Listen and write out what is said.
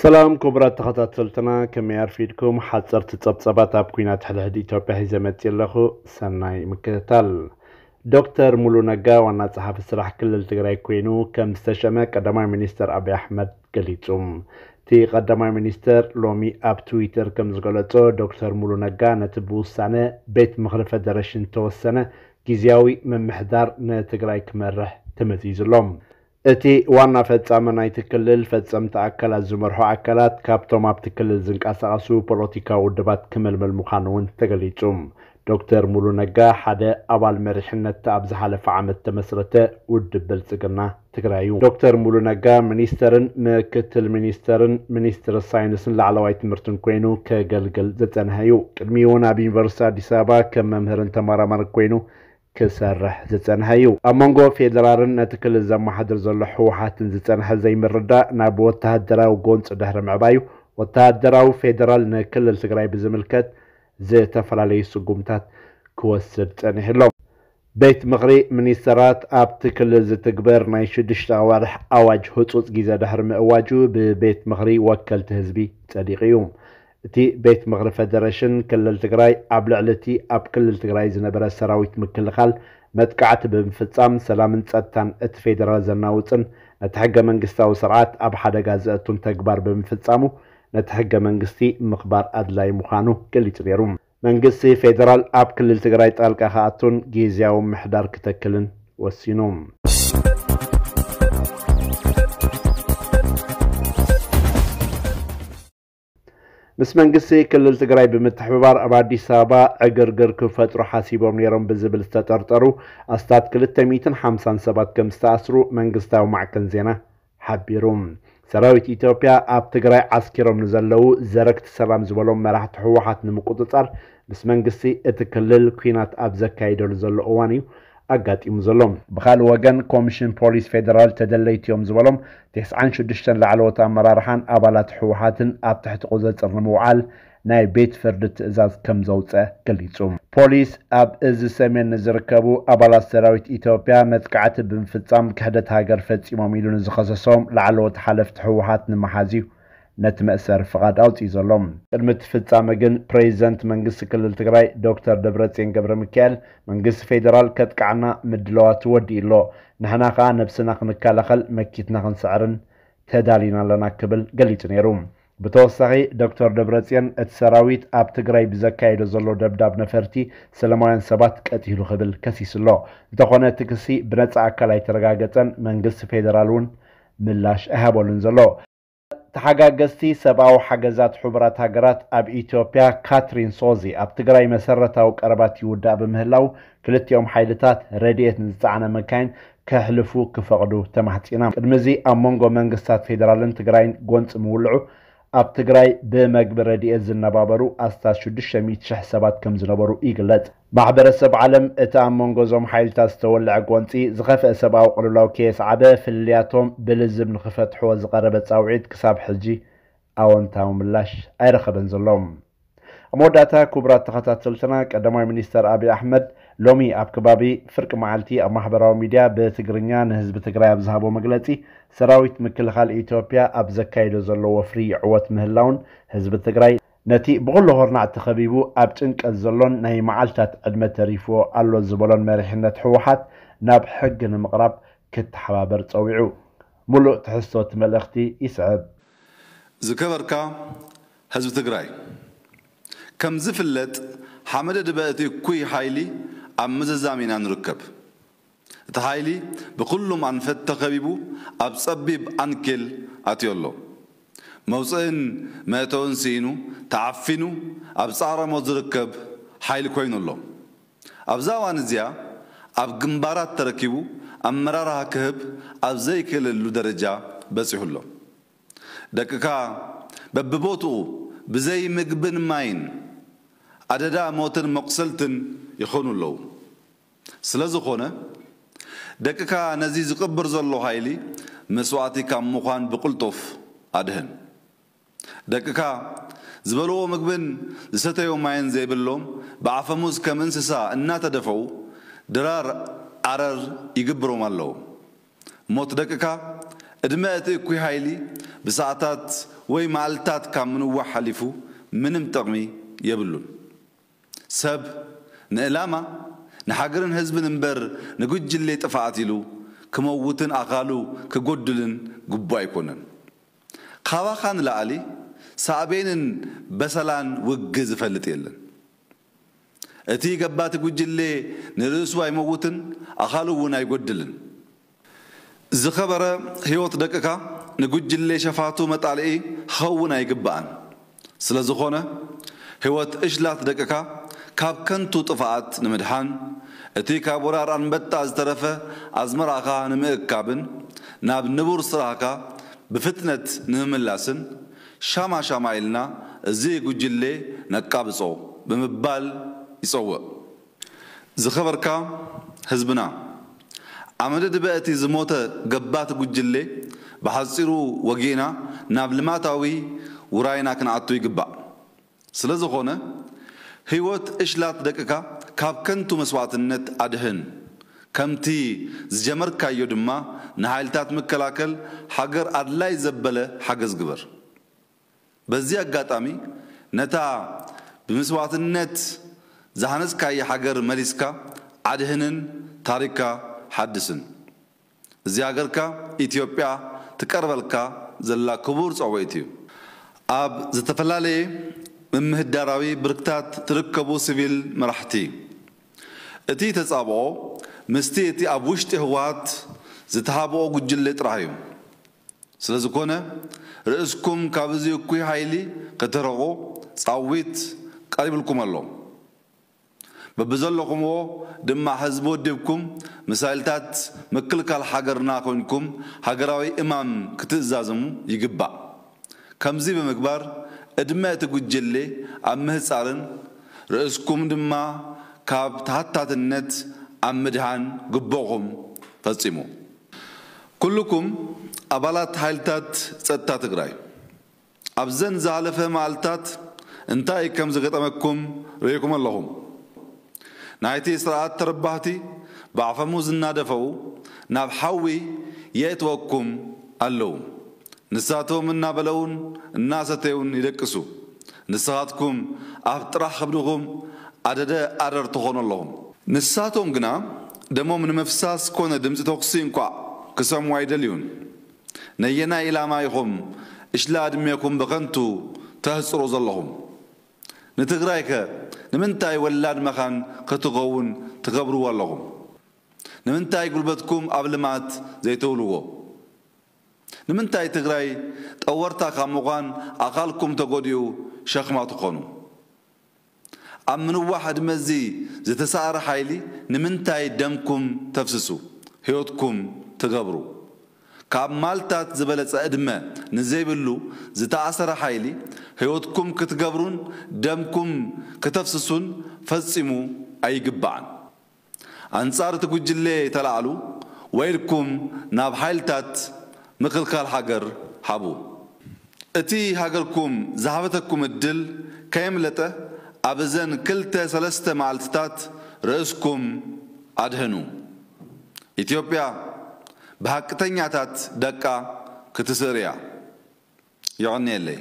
ሰላም ክቡራት ተኸታተልትና፣ ከመይ ኣርፊድኩም? ሓፀርቲ ፀብፀባት ኣብ ኲናት ሕድሕድ ኢትዮጵያ ሒዘ መፅእ ኣለኹ። ሰናይ ምክትታል። ዶክተር ሙሉ ነጋ ዋና ጸሓፊ ስራሕ ክልል ትግራይ ኮይኑ ከም ዝተሸመ ቀዳማይ ሚኒስተር ኣብይ ኣሕመድ ገሊጹ። እቲ ቀዳማይ ሚኒስተር ሎሚ ኣብ ትዊተር ከም ዝገለጾ፣ ዶክተር ሙሉ ነጋ ነቲ ብውሳነ ቤት ምኽሪ ፈደረሽን ተወሰነ ግዝያዊ ምምሕዳር ንትግራይ ክመርሕ ተመዚዙ ኣሎ። እቲ ዋና ፈጻሚ ናይቲ ክልል ፈጸምቲ ኣካላት ዝመርሑ ኣካላት ካብቶም ኣብቲ ክልል ዝንቀሳቐሱ ፖለቲካዊ ውድባት ክምልምል ምዃኑ እውን ተገሊጹ። ዶክተር ሙሉ ነጋ ሓደ ኣባል መሪሕነት ኣብ ዝሓለፈ ዓመት ተመስረተ ውድብ ብልጽግና ትግራይ እዩ። ዶክተር ሙሉ ነጋ ሚኒስተርን ምክትል ሚኒስተርን ሚኒስትር ሳይንስን ላዕለዋይ ትምህርትን ኮይኑ ከገልግል ዝጸንሐ እዩ። ቅድሚኡ እውን ኣብ ዩኒቨርሲቲ ኣዲስ ኣበባ ከም መምህርን ተመራማርን ኮይኑ ክሰርሕ ዝጸንሐ እዩ። ኣብ መንጎ ፌደራልን ነቲ ክልል ዘመሓድር ዘሎ ህወሓትን ዝጸንሐ ዘይምርዳእ ናብ ወተሃደራዊ ጎንፂ ድሕሪ ምዕባዩ፣ ወተሃደራዊ ፌደራል ንክልል ትግራይ ብዝምልከት ዝተፈላለዩ ስጉምታት ክወስድ ጸኒሑ ኣሎ። ቤት ምኽሪ ሚኒስተራት ኣብቲ ክልል ዝትግበር ናይ ሽዱሽተ ኣዋርሕ ኣዋጅ ህጹጽ ግዜ ድሕሪ ምእዋጁ ብቤት ምኽሪ ወከልቲ ህዝቢ ጸዲቑ እዩ። እቲ ቤት ምኽሪ ፈደረሽን ክልል ትግራይ ኣብ ልዕሊ እቲ ኣብ ክልል ትግራይ ዝነበረ ሰራዊት ምክልኻል መጥቃዕቲ ብምፍጻም ሰላምን ጸጥታን እቲ ፌደራል ዘናውጽን ነቲ ሕገ መንግስታዊ ስርዓት ኣብ ሓደጋ ዘእቱን ተግባር ብምፍጻሙ ነቲ ሕገ መንግስቲ ምኽባር ኣድላይ ምዃኑ ገሊጹ ነይሩ። መንግስቲ ፌደራል ኣብ ክልል ትግራይ ጣልቃ ክኣቱን ግዝያዊ ምሕዳር ክተክልን ወሲኑ። ምስ መንግስቲ ክልል ትግራይ ብምትሕብባር ኣብ ኣዲስ ኣበባ ዕግርግር ክፈጥሩ ሓሲቦም ነይሮም ብዝብል ዝተጠርጠሩ ኣስታት ክልተ ሚእትን ሓምሳን ሰባት ከም ዝተኣስሩ መንግስታዊ ማዕከን ዜና ሓቢሩ። ሰራዊት ኢትዮጵያ ኣብ ትግራይ ዓስኪሮም ንዘለዉ ዘረግቲ ሰላም ዝበሎም መራሕቲ ህወሓት ንምቁፅፃር ምስ መንግስቲ እቲ ክልል ኲናት ኣብ ዘካይደሉ ዘሎ እዋን እዩ ኣጋጢሙ ዘሎ። ብኻልእ ወገን ኮሚሽን ፖሊስ ፌደራል ተደለይቲ እዮም ዝበሎም ተስዓን ሽዱሽተን ላዕለዎት ኣመራርሓን ኣባላት ህወሓትን ኣብ ትሕቲ ቁፅፅር ንምውዓል ናይ ቤት ፍርዲ ትእዛዝ ከም ዘውፀ ገሊጹ። ፖሊስ ኣብ እዚ ሰሜን ንዝርከቡ ኣባላት ሰራዊት ኢትዮጵያ መጥቃዕቲ ብምፍጻም ክሕደት ሃገር ፈጺሞም ኢሉ ንዝኸሰሶም ላዕለዎት ሓለፍቲ ህወሓት ንምሓዝ እዩ ነቲ መእሰሪ ፍቓድ ኣውፂኡ ዘሎ። ቅድሚ እቲ ፍጻመ ግን ፕሬዚደንት መንግስቲ ክልል ትግራይ ዶክተር ደብረጽዮን ገብረ ሚካኤል መንግስቲ ፌደራል ከጥቅዓና ምድላዋቱ ወዲኡ ኣሎ፣ ንሕና ከኣ ነብስና ክንከላኸል መኪትና ክንስዕርን ተዳሊና ኣለና ክብል ገሊጹ ነይሩ። ብተወሳኺ ዶክተር ደብረጽዮን እቲ ሰራዊት ኣብ ትግራይ ብዘካየዶ ዘሎ ደብዳብ ነፈርቲ ሰላማውያን ሰባት ቀቲሉ ክብል ከሲሱ ኣሎ። እንተኾነ እቲ ክሲ ብነጻ ኣካል ኣይተረጋገጸን፣ መንግስቲ ፌደራል እውን ምላሽ ኣይሃበሉን ዘሎ። ተሓጋገዝቲ ሰብኣዊ ሓገዛት ሕቡራት ሃገራት ኣብ ኢትዮጵያ ካትሪን ሶዚ ኣብ ትግራይ መሰረታዊ ቀረባት ይውዳእ ብምህላው ክልቲኦም ሓይልታት ረድኤት ንዝጸዓና መካይን ከሕልፉ ክፈቕዱ ተማሕጺና። ቅድሚ እዚ ኣብ መንጎ መንግስታት ፌደራልን ትግራይን ጎንፂ ምውልዑ ኣብ ትግራይ ብመግቢ ረድኤት ዝነባበሩ ኣስታት ሽዱሽተ ሚእቲ ሽሕ ሰባት ከም ዝነበሩ ይግለጽ። ማሕበረሰብ ዓለም እቲ ኣብ መንጎ እዞም ሓይልታት ዝተወልዐ ጎንፂ ዝኸፍአ ሰብኣዊ ቅልውላው ከየስዓበ ፍልልያቶም ብልዝብ ንክፈትሕዎ ዝቐረበ ጻውዒት ክሳብ ሕጂ ኣወንታዊ ምላሽ ኣይረኸበን ዘሎ። ኣብ መወዳእታ ክቡራት ተኸታተልትና ቀዳማይ ሚኒስተር ኣብይ ኣሕመድ ሎሚ ኣብ ከባቢ ፍርቂ መዓልቲ ኣብ ማሕበራዊ ሚድያ ብትግርኛ ንህዝቢ ትግራይ ኣብ ዝሃቦ መግለፂ ሰራዊት ምክልኻል ኢትዮጵያ ኣብ ዘካይዶ ዘሎ ወፍሪ ይዕወት ምህላውን ህዝቢ ትግራይ ነቲ ብኹሉ ሆርናዕ ተኸቢቡ ኣብ ጭንቀት ዘሎን ናይ መዓልታት ዕድመ ተሪፍዎ ኣሎ ዝበሎን መሪሕነት ህወሓት ናብ ሕጊ ንምቕራብ ክተሓባበር ጸዊዑ። ሙሉእ ትሕዝቶ እቲ መልእኽቲ ይስዕብ። ዝከበርካ ህዝቢ ትግራይ፣ ከም ዝፍለጥ ሓመደ ድበ እቲ እኩይ ሓይሊ ኣብ ምዝዛም ኢና ንርከብ። እቲ ሓይሊ ብኹሉም ኣንፈት ተኸቢቡ ኣብ ጸቢብ ዓንኬል ኣትዩ ኣሎ። መውፅእን መእተውን ስኢኑ ተዓፊኑ ኣብ ጻዕረ ሞት ዝርከብ ሓይሊ ኮይኑ ኣሎ። ኣብዛ እዋን እዚኣ ኣብ ግንባራት ተረኪቡ ኣመራርሃ ክህብ ኣብ ዘይክእለሉ ደረጃ በፂሑ ኣሎ። ደቅካ በብቦትኡ ብዘይ ምግብን ማይን ኣደዳ ሞትን መቁሰልትን ይኾኑ ኣለዉ። ስለ ዝኾነ ደቅካ ነዚ ዝቕብር ዘሎ ሓይሊ መስዋእቲ ካብ ምዃን ብቕልጡፍ ኣድህን። ደቅካ ዝበልዎ ምግብን ዝሰተዮ ማይን ዘይብሎም ብኣፈሙዝ ከም እንስሳ እናተደፈኡ ድራር ዓረር ይግብሮም ኣለዉ። ሞት ደቅካ ዕድመ እቲ እኩይ ሓይሊ ብሰዓታት ወይ መዓልታት ካብ ምንዋሕ ሓሊፉ ምንም ጥቕሚ የብሉን። ሰብ ንዕላማ፣ ንሃገርን ህዝብን እምበር ንጉጅሌ ጥፍኣት ኢሉ ክመውትን ኣኻሉ ክጎድልን ግቡእ ኣይኮነን። ካባኻ ንላዕሊ ሳዕቤንን በሰላን ውግእ ዝፈልጥ የለን። እቲ ገባቲ ጉጅሌ ንርእሱ ኣይመውትን፣ ኣኻሉ እውን ኣይጎድልን። ዝኸበረ ህይወት ደቅኻ ንጉጅሌ ሸፋቱ መጣልኢ ክኸውን ኣይግባእን። ስለ ዝኾነ ህይወት እሽላት ደቅኻ ካብ ከንቱ ጥፍኣት ንምድሓን፣ እቲ ካብ ወራር ኣንበጣ ዝተረፈ ኣዝመራኻ ንምእካብን ናብ ንቡር ስራሕካ ብፍጥነት ንምምላስን ሻማ ሻማ ኢልና እዚ ጉጅሌ ነቃብጾ ብምባል ይጸውዕ። ዝኸበርካ ህዝብና፣ ኣመደድበ እቲ ዝሞተ ገባቲ ጉጅሌ ብሓጺሩ ወጊእና ናብ ልማታዊ ውራይና ክንኣቱ ይግባእ። ስለ ዝኾነ ህይወት እሽላት ደቅካ ካብ ከንቱ መስዋዕትነት ኣድሕን። ከምቲ ዝጀመርካዮ ድማ ንሓይልታት ምክላከል ሃገር ኣድላይ ዘበለ ሓገዝ ግበር። በዚ ኣጋጣሚ ነታ ብመስዋዕትነት ዝሃነጽካያ ሃገር መሊስካ ኣድህንን ታሪክካ ሓድስን። እዚ ሃገርካ ኢትዮጵያ ትቀርበልካ ዘላ ክቡር ጸውዒት እዩ። ኣብ ዝተፈላለየ ምምህዳራዊ ብርክታት ትርከቡ ሲቪል መራሕቲ፣ እቲ ተጻብኦ ምስቲ እቲ ኣብ ውሽጢ ህወሓት ዝተሃብኦ ጉጅለ ጥራሕ እዩ። ስለ ዝኾነ ርእስኩም ካብ እዚ እኩይ ሓይሊ ከተርሕቑ ጻዊት ቀሪብልኩም ኣሎ። በብዘለኹምዎ ድማ ህዝቢ ወዲብኩም ምስ ሓይልታት ምክልካል ሃገርና ኮይንኩም ሃገራዊ እማም ክትእዛዝሙ ይግባእ። ከምዚ ብምግባር ዕድመ እቲ ጉጅሌ ኣብ ምህጻርን ርእስኩም ድማ ካብ ተሓታትነት ኣብ ምድሓን ግቡእኹም ፈጺሙ። ኩልኩም ኣባላት ሓይልታት ጸጥታ ትግራይ ኣብዘን ዝሓለፈ መዓልታት እንታይ ከም ዝገጠመኩም ርኢኹም ኣለኹም። ናይቲ ስርዓት ተረባሕቲ ብኣፈሙዝ እናደፈኡ ናብ ሓዊ የእትወኩም ኣለዉ። ንሳቶም እናበለዉን እናሰተዩን ይደቅሱ። ንስኻትኩም ኣፍ ጥራሕ ከብድኹም ኣደደ ኣረር ትኾኑ ኣለኹም። ንሳቶም ግና ደሞም ንምፍሳስ ኮነ ድምፂ ተኹሲ እንኳዕ ክሰምዑ ኣይደልዩን። ነየናይ ኢላማ ኢኹም እሽላ ዕድሜኹም ብኸንቱ ተህፅሩ ዘለኹም? ንትግራይከ ንምንታይ ወላድ መኻን ክትኸውን ትገብርዎ ኣለኹም? ንምንታይ ጉልበትኩም ኣብ ልምዓት ዘይተውልዎ? ንምንታይ ትግራይ ጠወርታ ካብ ምዃን ኣኻልኩም ተጎዲኡ ሸኽማ ትኾኑ? ኣብ ምንዋሕ ዕድመ እዚ ዝተሳእረ ሓይሊ ንምንታይ ደምኩም ተፍስሱ፣ ህይወትኩም ትገብሩ? ካብ ማልታት ዝበለጸ ዕድመ ንዘይብሉ ዝተኣሰረ ሓይሊ ህይወትኩም ክትገብሩን ደምኩም ክተፍስሱን ፈጺሙ ኣይግባዕን። ኣንጻር እቲ ጉጅለ ተላዕሉ ወይ ኢድኩም ናብ ሓይልታት ምክልካል ሃገር ሃቡ። እቲ ሃገርኩም ዝሃበተኩም ዕድል ከየምለጠ ኣብ እዘን ክልተ ሰለስተ መዓልትታት ርእስኩም ኣድሕኑ። ኢትዮጵያ ብሃቅተኛታት ደቃ ክትስእር እያ። የቐንየለይ።